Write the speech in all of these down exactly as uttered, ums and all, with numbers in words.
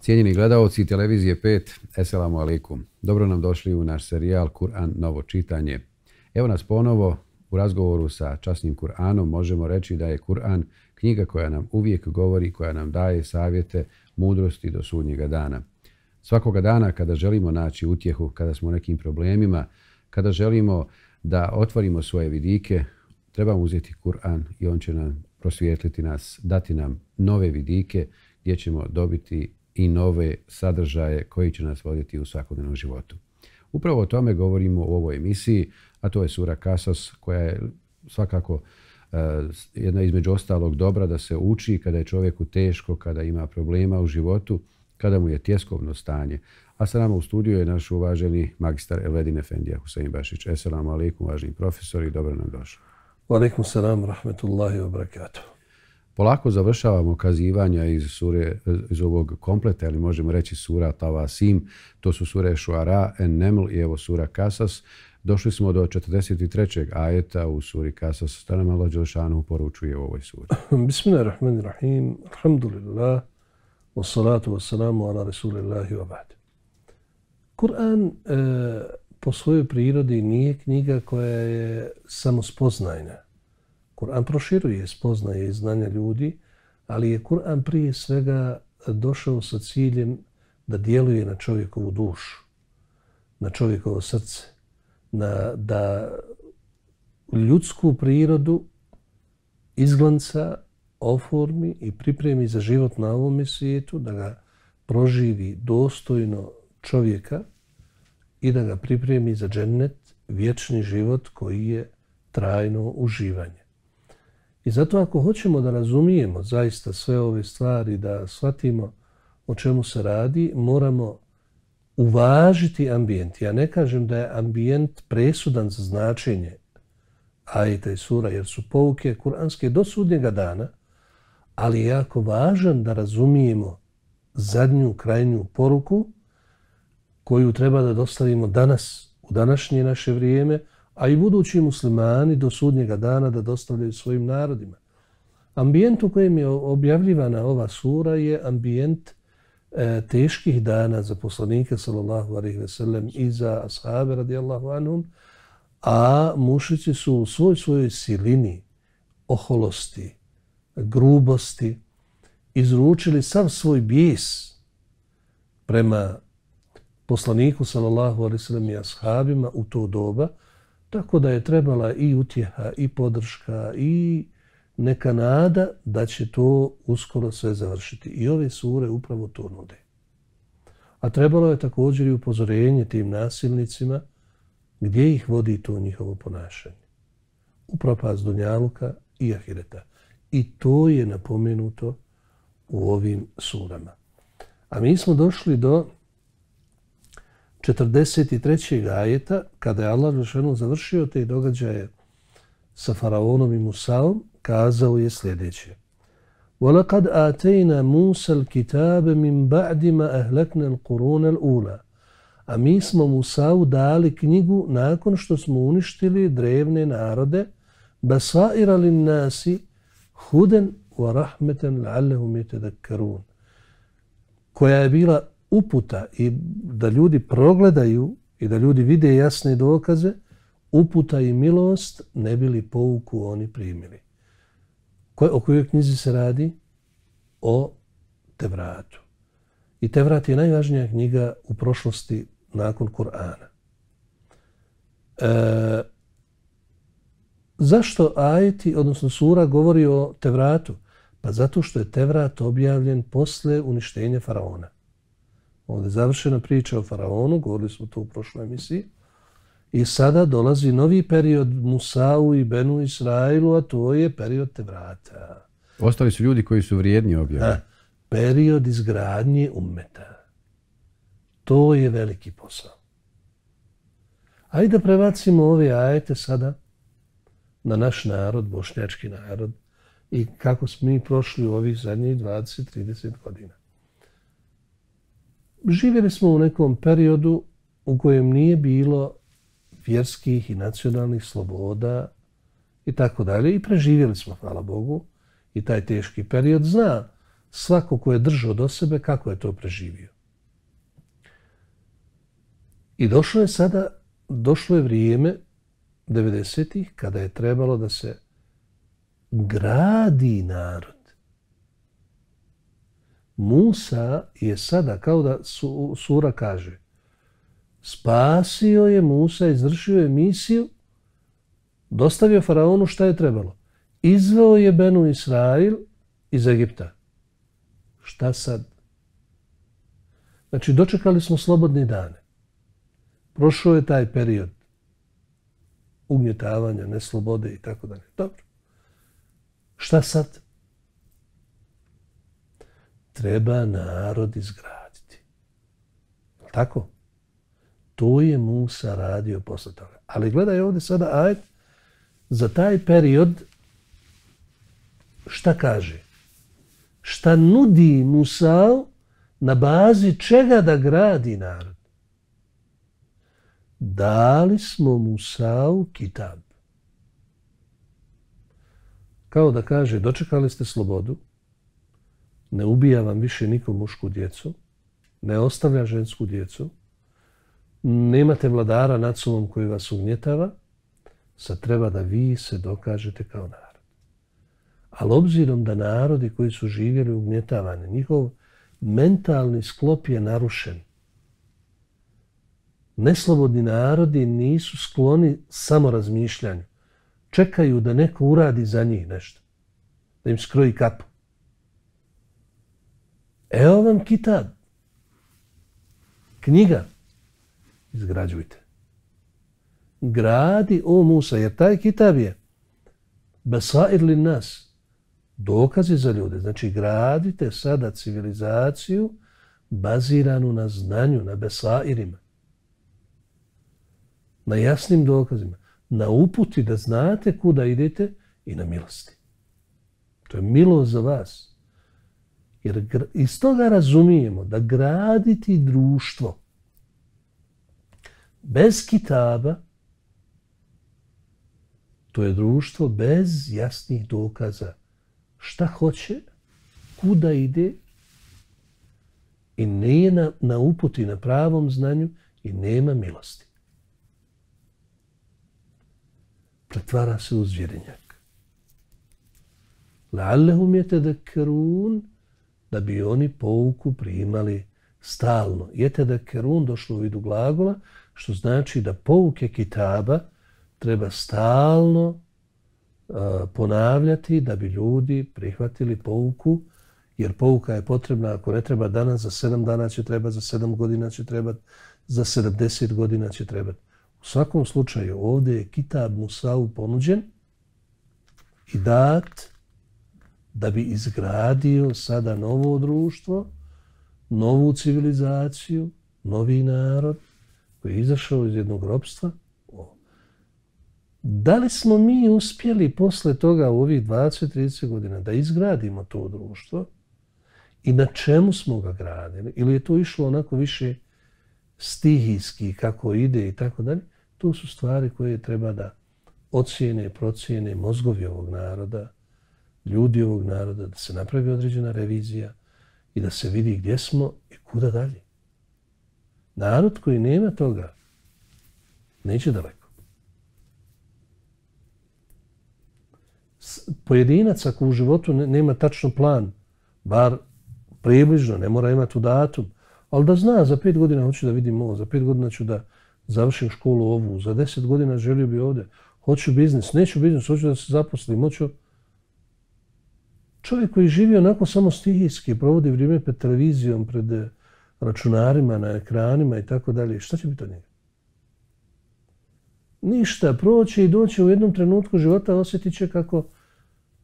Cijenjeni gledaoci televizije pet, eselamu alaikum. Dobro nam došli u naš serijal Kur'an novo čitanje. Evo nas ponovo u razgovoru sa časnim Kur'anom. Možemo reći da je Kur'an knjiga koja nam uvijek govori, koja nam daje savjete, mudrosti do sudnjega dana. Svakoga dana kada želimo naći utjehu, kada smo u nekim problemima, kada želimo da otvorimo svoje vidike, trebamo uzeti Kur'an i on će nam prosvijetliti nas, dati nam nove vidike gdje ćemo dobiti i nove sadržaje koji će nas voditi u svakodnevnom životu. Upravo o tome govorimo u ovoj emisiji, a to je sura Kasas, koja je svakako uh, jedna između ostalog dobra da se uči kada je čovjeku teško, kada ima problema u životu, kada mu je tjeskovno stanje. A sa nama u studiju je naš uvaženi magistar Elvedin Efendija Husein Bašić. Eselamu alaikum, uvaženi profesori, dobro nam došli. Wa alaikum salam, rahmetullahi wa barakatuh. Polako završavamo kazivanja iz, sure, iz ovog kompleta, ili možemo reći sura Tawasim, to su sure Šuara, En-Neml i evo sura Kasas. Došli smo do četrdeset trećeg ajeta u suri Kasas. Šta nam Allah Đelešanu poručuje u ovoj suri? Bismillahirrahmanirrahim, alhamdulillah, wassalatu wassalamu ala rasulillahi wa ba'd. Kur'an e, po svojoj prirodi nije knjiga koja je samo spoznajna. Kur'an proširuje spoznaje i znanja ljudi, ali je Kur'an prije svega došao sa ciljem da djeluje na čovjekovu dušu, na čovjekovo srce, na, da ljudsku prirodu izglanca, oformi i pripremi za život na ovom svijetu, da ga proživi dostojno čovjeka i da ga pripremi za džennet, vječni život koji je trajno uživanje. I zato ako hoćemo da razumijemo zaista sve ove stvari, da shvatimo o čemu se radi, moramo uvažiti ambijent. Ja ne kažem da je ambijent presudan za značenje ajeta i sura, jer su pouke kuranske do sudnjega dana, ali je jako važan da razumijemo zadnju, krajnju poruku koju treba da dostavimo danas, u današnje naše vrijeme, a i budući muslimani do sudnjega dana da dostavljaju svojim narodima. Ambijent u kojem je objavljivana ova sura je ambijent e, teških dana za poslanike sallallahu alejhi ve sellem i za ashabe radijallahu anhum, a mušici su u svoj svojoj silini, oholosti, grubosti izručili sav svoj bijes prema poslaniku sallallahu alejhi ve sellem i ashabima u to doba, tako da je trebala i utjeha, i podrška, i neka nada da će to uskoro sve završiti. I ove sure upravo to nude. A trebalo je također i upozorenje tim nasilnicima gdje ih vodi to njihovo ponašanje. U propast dunjaluka i ahireta. I to je napomenuto u ovim surama. A mi smo došli do četrdeset trećeg ajeta, kada je Allah Đelešanu završio te događaje sa faraonom i Musaom, kazao je sljedeće: وَلَقَدْ آتَيْنَا مُوسَى الْكِتَابَ مِنْ بَعْدِ مَا أَهْلَكْنَا الْقُرُونَ الْأُولَى. A mi smo Musau dali knjigu nakon što smo uništili drevne narode, بَصَائِرَ لِلنَّاسِ هُدًا وَرَحْمَةً لَعَلَّهُمْ يَتَذَكَّرُونَ, koja je bila uputa i da ljudi progledaju i da ljudi vide jasne dokaze, uputa i milost, ne bili pouku oni primili. Ko, o kojoj knjizi se radi? O Tevratu. I Tevrat je najvažnija knjiga u prošlosti nakon Kur'ana. E, zašto ajeti, odnosno sura, govori o Tevratu? Pa zato što je Tevrat objavljen posle uništenja faraona. Ovdje je završena priča o faraonu, govorili smo to u prošloj emisiji. I sada dolazi novi period Musau i Benu Israilu, a to je period Tevrata. Ostali su ljudi koji su vrijedni objavljeni. Period izgradnje ummeta. To je veliki posao. Ajde da prebacimo ove ajete sada na naš narod, bošnjački narod, i kako smo mi prošli u ovih zadnjih dvadeset do trideset godina. Živjeli smo u nekom periodu u kojem nije bilo vjerskih i nacionalnih sloboda i tako dalje. I preživjeli smo, hvala Bogu, i taj teški period. Zna svako ko je držao do sebe, kako je to preživio. I došlo je sada, došlo je vrijeme devedesetih kada je trebalo da se gradi narod. Musa je sada, kao da su, sura kaže, spasio je Musa, izvršio je misiju, dostavio faraonu šta je trebalo. Izveo je Benu Israil iz Egipta. Šta sad? Znači, dočekali smo slobodne dane. Prošao je taj period ugnjetavanja, neslobode i tako dalje. Dobro. Šta sad? Treba narod izgraditi. Tako? To je Musa radio posle toga. Ali gledaj ovdje sada ajet za taj period šta kaže? Šta nudi Musa na bazi čega da gradi narod? Dali smo Musa'u kitab. Kao da kaže, dočekali ste slobodu, ne ubija vam više nikom mušku djecu, ne ostavlja žensku djecu, nemate vladara nad sobom koji vas ugnjetava, sad treba da vi se dokažete kao narod. Ali obzirom da narodi koji su živjeli ugnjetavani, njihov mentalni sklop je narušen. Neslobodni narodi nisu skloni samo razmišljanju. Čekaju da neko uradi za njih nešto. Da im skroji kapu. Evo vam kitab. Knjiga. Izgrađujte. Gradi, o Musa, jer taj kitab je besair li nas. Dokazi za ljude. Znači, gradite sada civilizaciju baziranu na znanju, na besairima. Na jasnim dokazima. Na uputi da znate kuda idete i na milosti. To je milost za vas. Jer iz toga razumijemo da graditi društvo bez kitaba, to je društvo bez jasnih dokaza. Šta hoće, kuda ide i nije na, na uputi, na pravom znanju i nema milosti. Pretvara se u zvjerinjak. La'allahum yatadhakkarun, da bi oni pouku primali stalno. Yatadhakkarun došlo u vidu glagola, što znači da pouke kitaba treba stalno uh, ponavljati da bi ljudi prihvatili pouku, jer pouka je potrebna, ako ne treba danas, za sedam dana će treba, za sedam godina će trebati, za sedamdeset godina će trebati. U svakom slučaju ovdje je kitab Musa'u ponuđen i dat da bi izgradio sada novo društvo, novu civilizaciju, novi narod koji je izašao iz jednog ropstva. Da li smo mi uspjeli posle toga u ovih dvadeset do trideset godina da izgradimo to društvo i na čemu smo ga gradili? Ili je to išlo onako više stihijski kako ide i tako dalje? To su stvari koje treba da ocijene, procijene mozgovi ovog naroda, ljudi ovog naroda, da se napravi određena revizija i da se vidi gdje smo i kuda dalje. Narod koji nema toga neće daleko. Pojedinac ako u životu nema tačno plan, bar približno, ne mora imati u datum, ali da zna za pet godina hoću da vidim ovo, za pet godina ću da završim školu ovu, za deset godina želio bi ovdje, hoću biznis, neću biznis, hoću da se zaposlim, hoću... Čovjek koji živi onako samo stihijski, provodi vrijeme pred televizijom, pred računarima, na ekranima i tako dalje, šta će biti od njega? Ništa, proće i doće u jednom trenutku života, osjetit će kako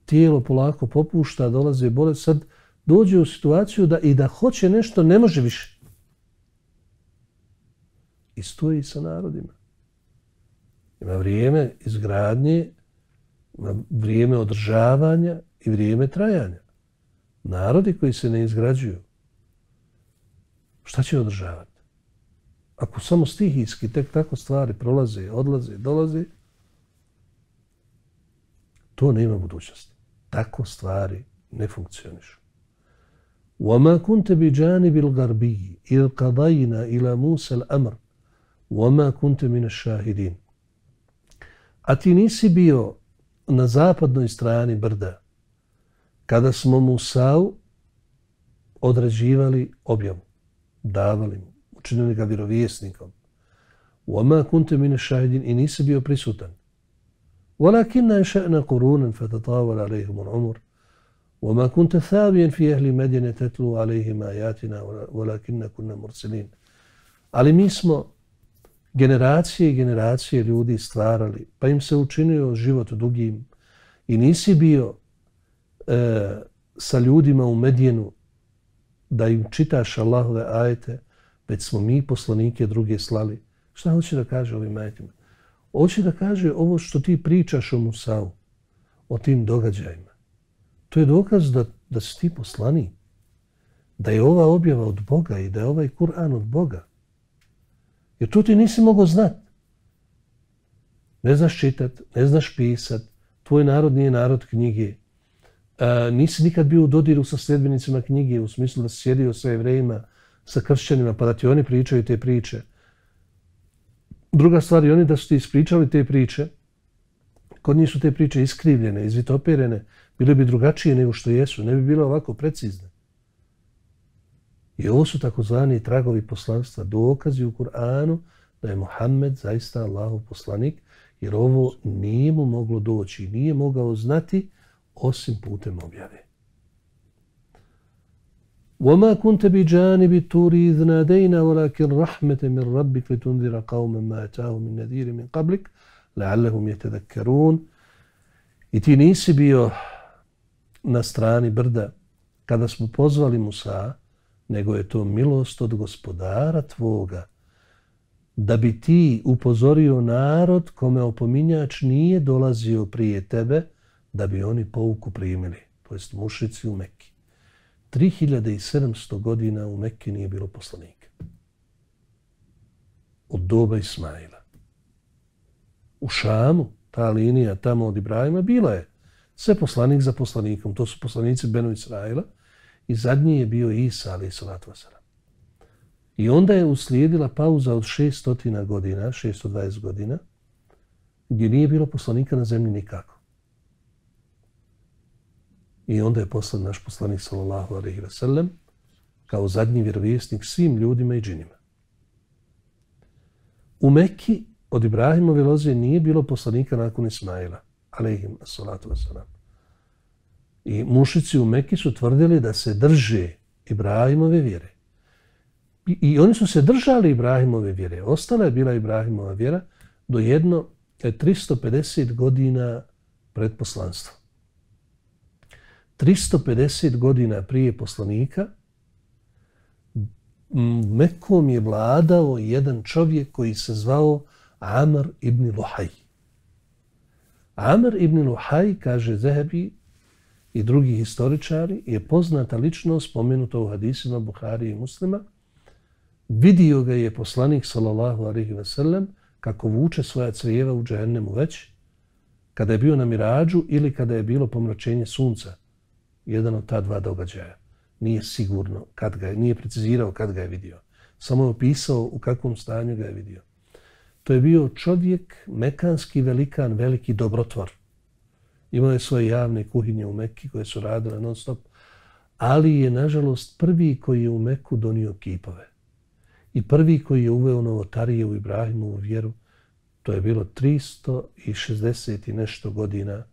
tijelo polako popušta, dolaze bolest, sad dođe u situaciju da i da hoće nešto, ne može više. I stoji sa narodima. Ima vrijeme izgradnje, ima vrijeme održavanja i vrijeme trajanja. Narodi koji se ne izgrađuju, šta će održavati? Ako samo stihijski tek tako stvari prolaze, odlaze, dolaze, to nema budućnosti. Tako stvari ne funkcionišu. وَمَا كُنْتَ بِجَانِبِ الْغَرْبِيِّ إِذْ قَضَيْنَا إِلَى مُوسَى الْأَمْرِ وَمَا كُنْتَ مِنَ الشَّاهِدِينَ. A ti nisi bio na zapadnoj strani brda kada smo Musau određivali objavu, davali mu, učinili ga vjerovjesnikom. وَمَا كُنْتَ مِنَ الشَّاهِدِينَ i nisi bio prisutan. وَلَكِنَّا أَنشَأْنَا قُرُونًا فَتَطَاوَلَ عَلَيْهِمُ الْعُمُرُ وَمَا كُنْتَ ثَاوِيًا فِي أَهْلِ مَدْيَنَ تَتْلُو عَلَيْهِمْ آيَاتِنَا وَلَكِنَّا كُنَّا مُرْسِلِينَ. Ali mi smo generacije i generacije ljudi stvarali, pa im se učinio život dugim i nisi bio e, sa ljudima u Medjenu da im čitaš Allahove ajete, već smo mi poslanike druge slali. Šta hoće da kaže ovim ajetima? Hoće da kaže ovo što ti pričaš o Musau, o tim događajima. To je dokaz da, da si ti poslanik, da je ova objava od Boga i da je ovaj Kur'an od Boga. Jer to ti nisi mogao znat. Ne znaš čitat, ne znaš pisat, tvoj narod nije narod knjige. A, nisi nikad bio u dodiru sa sljedbenicima knjige, u smislu da si sjedio sa Jevrejima, sa kršćanima, pa da ti oni pričaju te priče. Druga stvar je oni da su ti ispričali te priče, kod njih su te priče iskrivljene, izvitoperene, bile bi drugačije nego što jesu, ne bi bile ovako precizne. I ovo su takozvani tragovi poslanstva, dokazi u Kur'anu da je Muhammed zaista Allahov poslanik, jer ovo nije mu moglo doći, nije mogao znati osim putem objave. وَمَا كُنْتَ بِجَانِبِ الطُّورِ إِذْ نَادَيْنَا وَلَكِنْ رَحْمَةً مِنْ رَبِّكَ لِتُنْذِرَ قَوْمًا مَا أَتَاهُم مِنْ نَذِيرٍ مِنْ قَبْلِكَ لَعَلَّهُمْ يَتَذَكَّرُونَ. I ti nisi bio na strani brda kada smo pozvali Musa, nego je to milost od gospodara tvoga, da bi ti upozorio narod kome opominjač nije dolazio prije tebe, da bi oni pouku primili, to jest mušici u Mekki. tri hiljade sedamsto godina u Mekki nije bilo poslanika. Od doba Ismaila. U Šamu, ta linija tamo od Ibrahima, bila je sve poslanik za poslanikom. To su poslanici Benu Israila i zadnji je bio Isa, alaih salatu wasalam. I onda je uslijedila pauza od šesto godina, šesto dvadeset godina, gdje nije bilo poslanika na zemlji nikako. I onda je poslan naš poslanik sallallahu alejhi ve sellem kao zadnji vjerovjesnik svim ljudima i džinima. U Mekki od Ibrahimove loze nije bilo poslanika nakon Ismaila, alejhim salatu vesselam. I mušici u Mekki su tvrdili da se drže Ibrahimove vjere. I, i oni su se držali Ibrahimove vjere. Ostala je bila Ibrahimova vjera do jedno tristo pedeset godina pred poslanstvom. tristo pedeset godina prije poslanika Mekom je vladao jedan čovjek koji se zvao Amr ibn Luhaj. Amr ibn Luhaj, kaže Zehebi i drugi historičari, je poznata ličnost, spomenuta u hadisima Buhari i Muslima. Vidio ga je poslanik sallallahu alejhi ve sellem kako vuče svoja crijeva u džehennemu već, kada je bio na Miradžu ili kada je bilo pomračenje sunca. Jedan od ta dva događaja. Nije sigurno kad ga je, nije precizirao kad ga je vidio. Samo je opisao u kakvom stanju ga je vidio. To je bio čovjek, mekanski velikan, veliki dobrotvor. Imao je svoje javne kuhinje u Mekki koje su radile non stop, ali je nažalost prvi koji je u Mekku donio kipove. I prvi koji je uveo novotarije u Ibrahimovu vjeru, to je bilo tristo šezdeset i nešto godina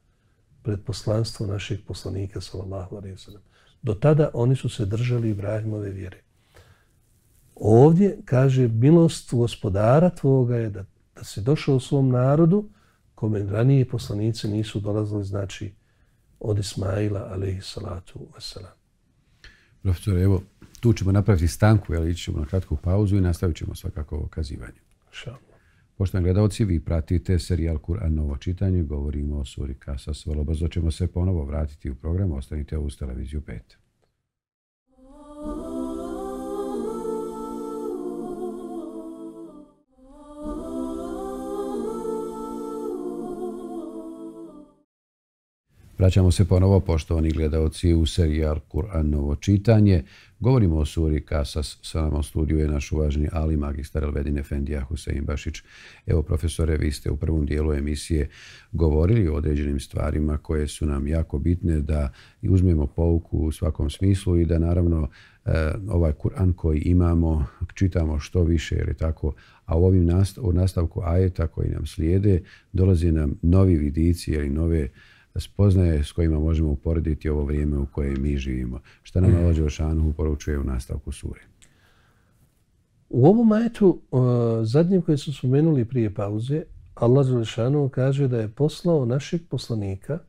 pred poslanstvo našeg poslanika sallallahu alejhi ve sellem. Do tada oni su se držali Ibrahimove vjere. Ovdje kaže milost gospodara tvoga je da, da si došao u svom narodu kome ranije poslanici nisu dolazili, znači od Ismaila alejhi salatu vesselam. Profesor, evo, tu ćemo napraviti stanku, ali ići ćemo na kratku pauzu i nastavit ćemo svakako ovo kazivanje. Šalno. Poštovani gledalci, vi pratite serijal Kur'an novo čitanje, govorimo o suri Kasas. Vrlo brzo ćemo se ponovo vratiti u program, ostanite uz televiziju pet. Vraćamo se ponovo, poštovani gledalci, u serijal Kur'an novo čitanje. Govorimo o suri Kasas. Sa nama u studiju je naš uvaženi ali magistar Elvedin Efendija Husein Bašić. Evo, profesore, vi ste u prvom dijelu emisije govorili o određenim stvarima koje su nam jako bitne da uzmemo pouku u svakom smislu i da naravno ovaj Kur'an koji imamo čitamo što više, jer je tako, a u ovim nastav, u nastavku ajeta koji nam slijede dolaze nam novi vidici ili nove spoznaje s kojima možemo uporediti ovo vrijeme u kojem mi živimo. Šta nam Allah Đelešanu poručuje u nastavku sure? U ovom ajetu, uh, zadnjem koje su spomenuli prije pauze, Allah Đelešanu kaže da je poslao našeg poslanika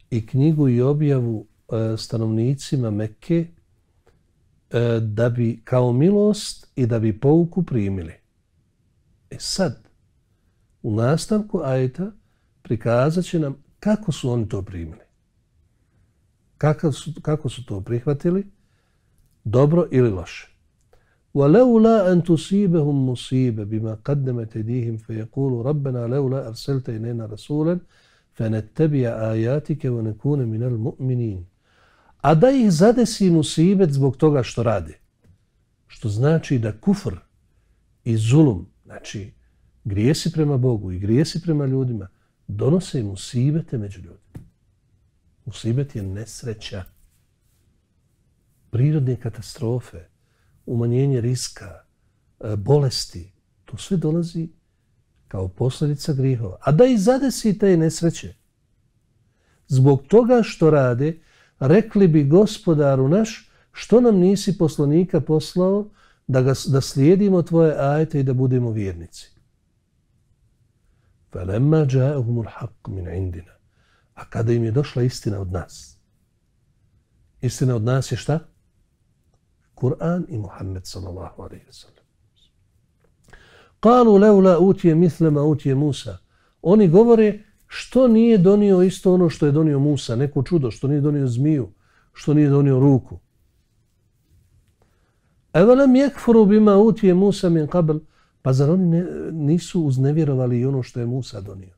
i knjigu i objavu uh, stanovnicima Mekke uh, da bi kao milost i da bi pouku primili. E sad, u nastavku ajeta prikazat će nam kako su oni to primili. Kako su, kako su to prihvatili? Dobro ili loše? وَلَوْلَا أَن تُصِيبَهُمْ مُصِيبَ بِمَا قَدَّمَتْ أَيْدِيهِمْ فَيَقُولُوا رَبَّنَا لَوْلَا أَرْسَلْتَ إِلَيْنَا رَسُولًا فَنَتَّبِعَ آيَاتِكَ وَنَكُونَ مِنَ الْمُؤْمِنِينَ. A da ih zadesi musibet zbog toga što rade. Što znači da kufr i zulum, znači grijesi prema Bogu i grijesi prema ljudima, donose musibete među ljudima. Musibet je nesreća, prirodne katastrofe, umanjenje riska, bolesti. To sve dolazi kao posljedica grihova. A da i zadesi te nesreće. Zbog toga što rade, rekli bi Gospodaru naš, što nam nisi poslanika poslao da, ga, da slijedimo tvoje ajete i da budemo vjernici. فَلَمَّا جَاءَهُمُ الْحَقُّ مِنْ عِنْدِنَا. A kada im je došla istina od nas. Istina od nas je šta? Kur'an i Muhammed sallallahu alejhi ve sellem. قَالُوا لَوْلَا أُوتِيَ مِثْلَ مَا أُوتِيَ مُوسَى. Oni govore što nije donio isto ono što je donio Musa, neko čudo, što nije donio zmiju, što nije donio ruku. أَوَلَمْ يَكْفُرُوا بِمَا أُوتِيَ مُوسَى مِنْ قَبْلِ. Pa zar oni ne, nisu uznevjerovali i ono što je Musa donio?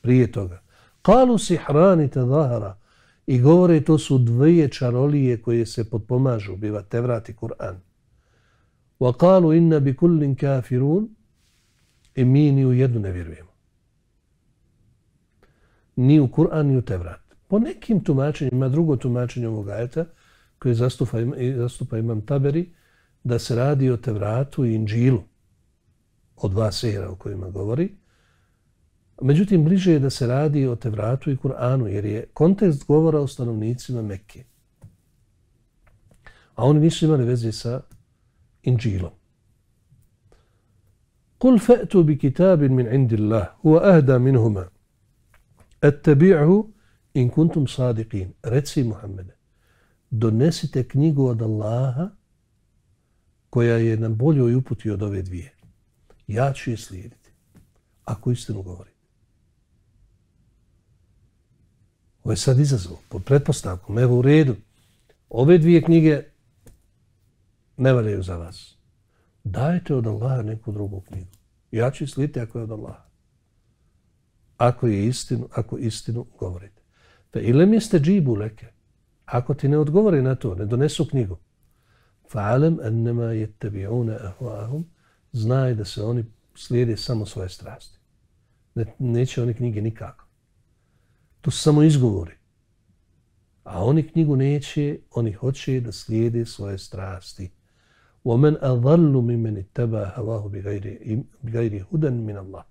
Prije toga. Kalu sihrani tadahara. I govore to su dvije čarolije koje se potpomažu, biva Tevrat i Kur'an. Wa kalu inna bi kullin kafirun. I mi ni u jednu ne vjerujemo. Ni u Kur'an, ni u Tevrat. Po nekim tumačenjima, drugo tumačenje ovog ajeta, koje zastupa, zastupa imam Taberi, da se radi o Tevratu i Inđilu, o dva sehra o kojima govori. Međutim, bliže je da se radi o Tevratu i Kur'anu, jer je kontekst govora o stanovnicima Mekke. A oni nisu imali veze sa Inđilom. قُلْ فَأْتُوا بِكِتَابٍ مِنْ عِنْدِ اللَّهِ هُوَ أَهْدَى مِنْهُمَا أَتَّبِعْهُ إِنْ كُنْتُمْ صَادِقِينَ. Reci Muhammede, donesite knjigu od Allaha koja je na boljoj uputi od ove dvije. Ja ću je slijediti, ako istinu govorite. Ovo je sad izazov, pod pretpostavkom, evo u redu. Ove dvije knjige ne valjaju za vas. Dajte od Allaha neku drugu knjigu. Ja ću je slijediti ako je od Allaha. Ako je istinu, ako istinu govorite. Fe ilem jeste džibu leke. Ako ti ne odgovore na to, ne donesu knjigu, fa'alam annama yattabi'una ahwa'ahum. Znaj da se oni slijede samo svoje strasti. Ne, neće oni knjige nikako. To su samo izgovori. A oni knjigu neće, oni hoće da slijede svoje strasti. وَمَنْ أَضَلُّ مِمَّنِ اتَّبَعَ هَوَاهُ بِغَيْرِ هُدًى مِنَ اللَّهِ.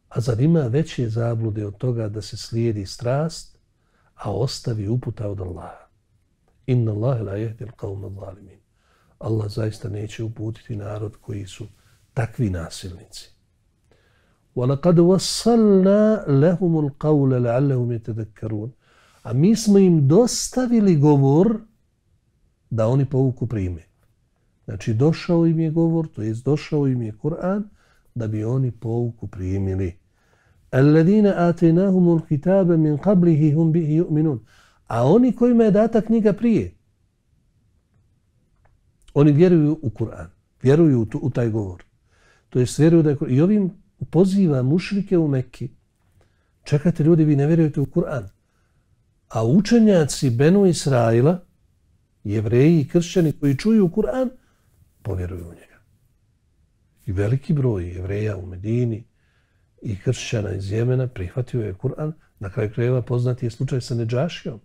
A zar ima veće zablude od toga da se slijedi strast, a ostavi uputa od Allaha? Inna Allahe la yahdi al-qawma adh-dhalimin. Allah zaista neće uputiti narod koji su takvi nasilnici. وَلَقَدْ وَصَّلْنَا لَهُمُ الْقَوْلَ لَعَلَّهُمْ يَتَذَكَّرُونَ. A mi smo im dostavili govor da oni pouku prime. Znači došao im je govor, to jest došao im je Kur'an, da bi oni pouku primili. الَّذِينَ آتَيْنَاهُمُ الْكِتَابَ مِنْ قَبْلِهِ هُمْ بِهِ يُؤْمِنُونَ. A oni kojima je data knjiga prije, oni vjeruju u Kur'an, vjeruju u, tu, u taj govor. To jest vjeruju da je Kur'an. I ovim poziva mušrike u Mekki Čekajte ljudi, vi ne vjerujete u Kur'an. A učenjaci Benu Israila, Jevreji i kršćani koji čuju Kur'an, povjeruju u njega. I veliki broj Jevreja u Medini i kršćana iz Jemena prihvatio je Kur'an. Na kraju krajeva poznati je slučaj sa Nedžašijom,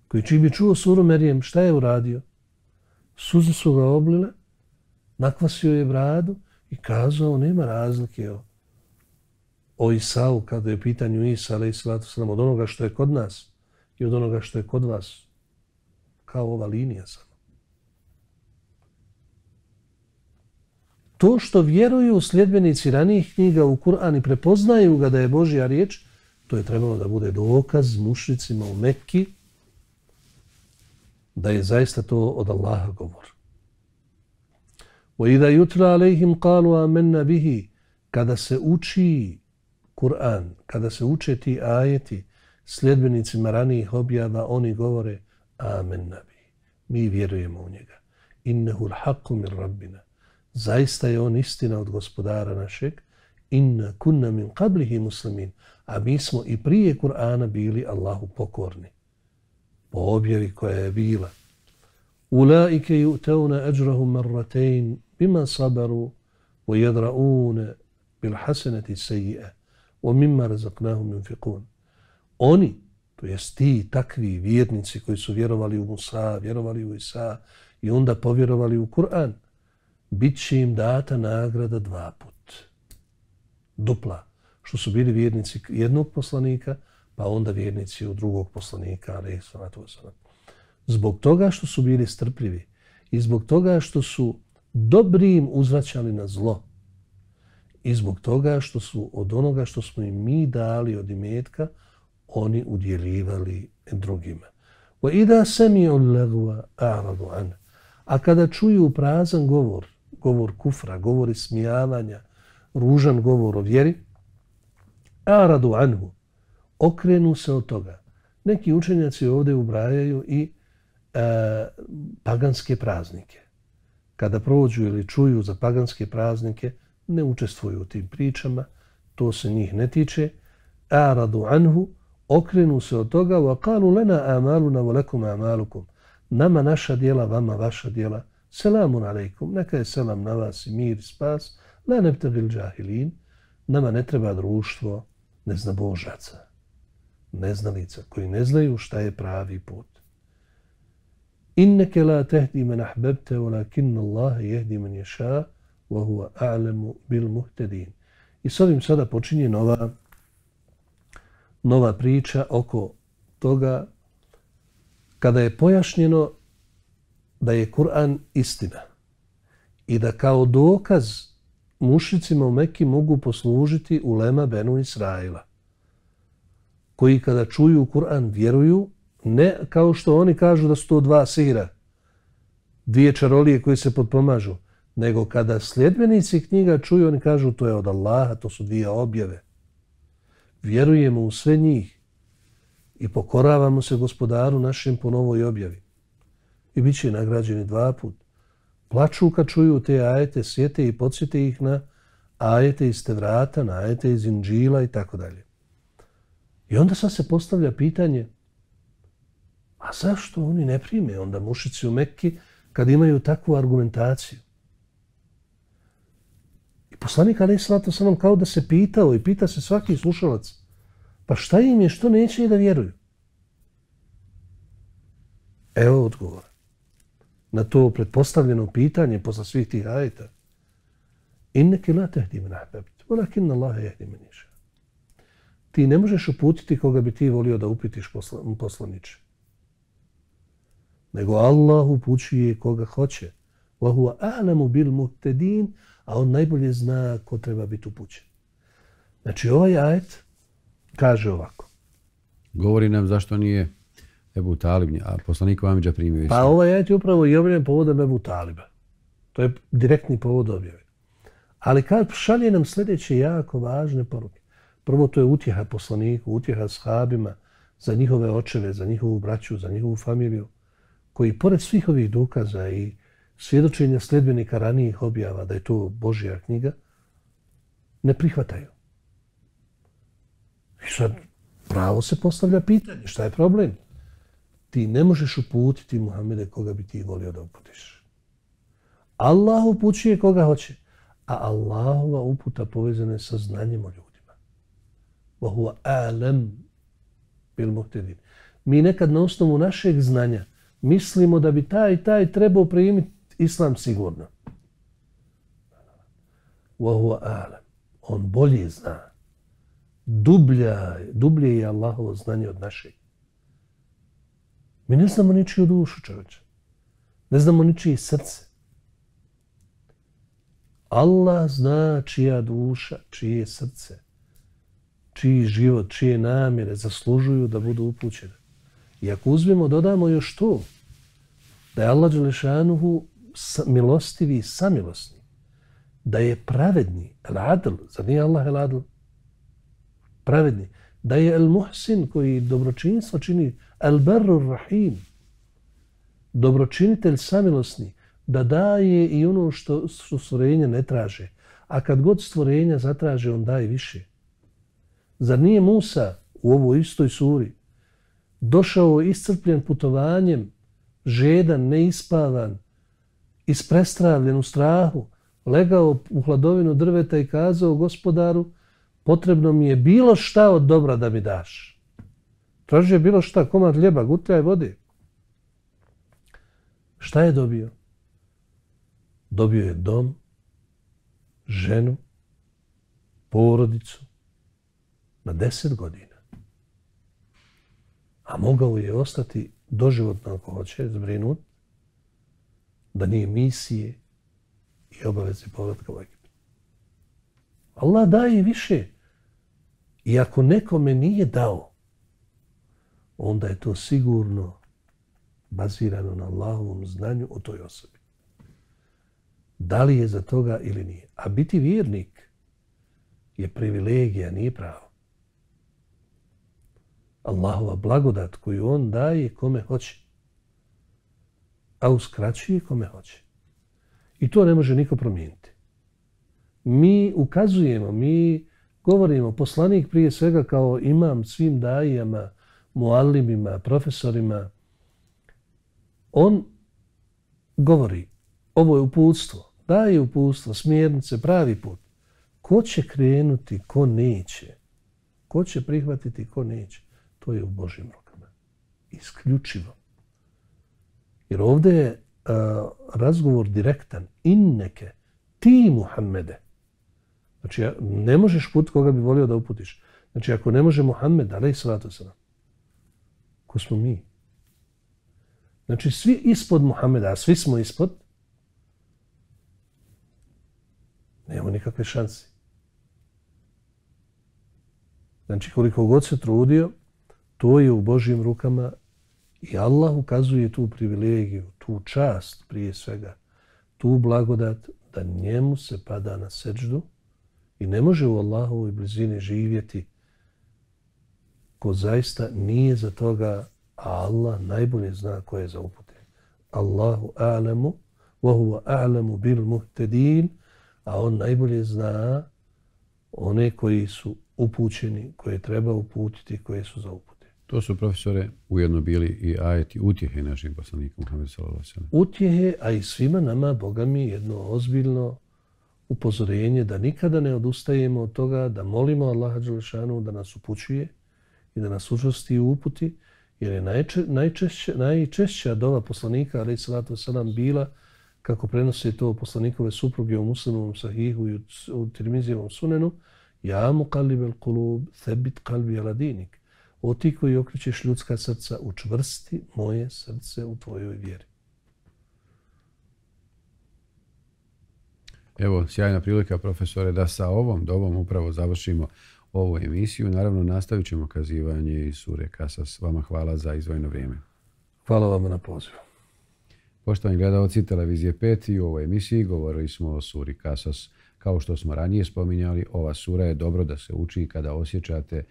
koji čim je čuo suru Merijem, šta je uradio? Suze su ga oblile, nakvasio je bradu i kazao nema razlike o, o Isau kada je u pitanju Isa, alaih salatu salam, od onoga što je kod nas i od onoga što je kod vas. Kao ova linija samo. To što vjeruju sljedbenici ranijih knjiga u Kur'an i prepoznaju ga da je Božja riječ, to je trebalo da bude dokaz mušricima u Mekki da je zaista to od Allaha govor. وَإِذَا يُتْلَى عَلَيْهِمْ قَالُوا آمَنَّا بِهِ Kada se uči Kur'an, kada se uče ti ajeti sljedbenicima ranijih objava, oni govore Amen nabi. Mi vjerujemo u njega. Innehu l'haqqu min rabbina. Zaista je on istina od gospodara našeg. Inna kunna min qablihi muslimin. A mi smo i prije Kur'ana bili Allahu pokorni. Po objavi koja je bila. Ulaike yu'tauna ajrahum marratayn bima sabaru wa yadra'una bil hasanati sayyi'a wa mimma razaqnahum yunfiqun. Oni, to jest ti takvi vjernici koji su vjerovali u Musa, vjerovali u Isa i onda povjerovali u Kur'an, bit će im data nagrada dva put. Dupla. Što su bili vjernici jednog poslanika, pa onda vjernici u drugog poslanika, alejhi salatu vesselam. Zbog toga što su bili strpljivi i zbog toga što su dobrim uzvraćali na zlo i zbog toga što su od onoga što smo im mi dali od imetka, oni udjeljivali drugima. وَإِذَا سَمِعُوا اللَّغْوَ أَعْرَضُوا عَنْهُ A kada čuju prazan govor, govor kufra, govor ismijavanja, ružan govor o vjeri, أَعْرَضُوا عَنْهُ Okrenu se od toga. Neki učenjaci ovdje ubrajaju i e, paganske praznike. Kada prođu ili čuju za paganske praznike, ne učestvuju u tim pričama, to se njih ne tiče. أَعْرَضُوا عَنْهُ Okrenu se od toga, وَقَالُوا لَنَا آمَالُنَا وَلَكُمْ آمَالُكُمْ Nama naša djela, vama vaša djela. Selamun alejkum, neka je selam na vas i mir i spas. La nebtagil džahilin, nama ne treba društvo neznabožaca, neznalica koji ne znaju šta je pravi put. Inneke la tehdi men ahbebte, walakinna Allahe jehdi men ješa, wa huwa a'lemu bil muhtedin. I s ovim sada počinje nova, nova priča oko toga kada je pojašnjeno da je Kur'an istina i da kao dokaz mušricima u Mekki mogu poslužiti ulema Benu Israila, koji kada čuju Kur'an vjeruju, ne kao što oni kažu da su to dva sihira, dvije čarolije koje se potpomažu, nego kada sljedbenici knjiga čuju, oni kažu to je od Allaha, to su dvije objave. Vjerujemo u sve njih i pokoravamo se gospodaru našem po novoj objavi. I bit će nagrađeni dva put. Plaču kad čuju te ajete, sjete i podsjete ih na ajete iz Tevrata, na ajete iz Inđila i tako dalje. I onda sad se postavlja pitanje, a zašto oni ne prime onda mušici u Mekki kad imaju takvu argumentaciju? I poslanik alejhi salatu vesselam kao da se pitao i pita se svaki slušalac, pa šta im je, što neće i da vjeruju? Evo odgovor na to pretpostavljeno pitanje posle svih tih ajeta. Inneke la tehdi men ahbebte, walakinna Allahe jehdi men ješa. Ti ne možeš uputiti koga bi ti volio da upitiš poslaniče. Nego Allah upućuje koga hoće. Wa huwa a'lamu bil muhtedin, a on najbolje zna ko treba biti upućen. Znači ovaj ajet kaže ovako. Govori nam zašto nije Ebu Talib, a poslanik Amidža primio islam. Pa ovaj ajet je upravo i objavljen povodom Ebu Taliba. To je direktni povod objave. Ali kad šalje nam sljedeće jako važne poruke. Prvo, to je utjeha poslaniku, utjeha sahabima za njihove očeve, za njihovu braću, za njihovu familiju, koji pored svih ovih dokaza i svjedočenja sljedbenika ranijih objava da je to Božja knjiga, ne prihvataju. I sad pravo se postavlja pitanje, šta je problem? Ti ne možeš uputiti Muhammede koga bi ti volio da uputiš. Allah upućuje koga hoće, a Allahova uputa povezana je sa znanjem o ljudima. Wa huwa a'lam bil muhtedin. Mi nekad na osnovu našeg znanja mislimo da bi taj i taj trebao primiti islam sigurno. Wa huwa a'lam. On bolje zna. Dublja, dublje je Allahovo znanje od našeg. Mi ne znamo ničiju dušu, čovječe. Ne znamo ničije srce. Allah zna čija duša, čije srce, čiji život, čije namjere zaslužuju da budu upućene. I ako uzmemo, dodamo još to, da je Allah dželešanuhu milostivi i samilosni, da je pravedni, el-adl, zar nije Allah el-adl? Pravedni. Da je el-muhsin koji dobročinstvo čini, el-barru rahim, dobročinitelj samilosni, da daje i ono što, što stvorenja ne traže. A kad god stvorenja zatraže, on daje više. Zar nije Musa u ovoj istoj suri došao iscrpljen putovanjem, žedan, neispavan, isprestravljen u strahu, legao u hladovinu drveta i kazao gospodaru, potrebno mi je bilo šta od dobra da mi daš. Tražio je bilo šta, komad hljeba, gutljaj vode. Šta je dobio? Dobio je dom, ženu, porodicu na deset godina. A mogao je ostati doživotno ako hoće, zbrinut, da nije misije i obaveze povratka u Egipat. Allah daje više. I ako nekome nije dao, onda je to sigurno bazirano na Allahovom znanju o toj osobi. Da li je za toga ili nije. A biti vjernik je privilegija, nije pravo. Allahova blagodat koju on daje kome hoće, a uskraćuje kome hoće. I to ne može niko promijeniti. Mi ukazujemo, mi govorimo, poslanik prije svega kao imam svim dajama, muallimima, profesorima, on govori, ovo je uputstvo, daje uputstvo, smjernice, pravi put. Ko će krenuti, ko neće? Ko će prihvatiti, ko neće? To je u Božjim rukama. Isključivo. Jer ovdje je uh, razgovor direktan. Inneke, ti Muhammede. Znači, ne možeš put koga bi volio da uputiš. Znači, ako ne može Muhammed, alejhi salatu vesselam, ko smo mi? Znači, svi ispod Muhammeda, a svi smo ispod, nemamo nikakve šanse. Znači, koliko god se trudio, to je u Božjim rukama i Allah ukazuje tu privilegiju, tu čast prije svega, tu blagodat da njemu se pada na seđdu i ne može u Allahovoj blizini živjeti ko zaista nije za toga, a Allah najbolje zna ko je za upute. Allahu a'lamu wa huwa a'lamu bil muhtedin, a on najbolje zna one koji su upućeni, koje treba uputiti, koje su za upute. To su, profesore, ujedno bili i ajeti utjehe našim poslanikom Muhammedu sallallahu alejhi ve sellem. Utjehe, a i svima nama, Boga mi, jedno ozbiljno upozorenje da nikada ne odustajemo od toga, da molimo Allaha dželešanu da nas upućuje i da nas učvrsti u uputi, jer je najče, najčešća, najčešća dova poslanika, alejhi salatu vesselam, bila, kako prenose to poslanikove supruge u Muslimovom sahihu i u Tirmizijevom sunenu, ja muqallibel kulub, thebit qalbi ala dinik. O ti koji okrećeš ljudska srca, učvrsti moje srce u tvojoj vjeri. Evo, sjajna prilika, profesore, da sa ovom dovom upravo završimo ovu emisiju. Naravno, nastavit ćemo kazivanje iz sure Kasas. Vama hvala za izdvojeno vrijeme. Hvala vam na pozivu. Poštovani gledalci Televizije pet, i u ovoj emisiji govorili smo o suri Kasas. Kao što smo ranije spominjali, ova sura je dobro da se uči kada osjećate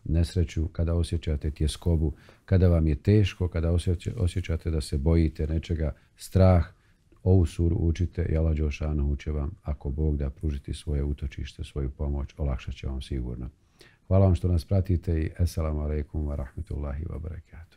nesreću, kada osjećate tjeskobu, kada vam je teško, kada osjećate da se bojite nečega, strah. Ovu suru učite i Allah dželešanu će vam, ako Bog da, pružiti svoje utočište, svoju pomoć, olakšat će vam sigurno. Hvala vam što nas pratite i assalamu alaikum wa rahmetullahi wa barakatuh.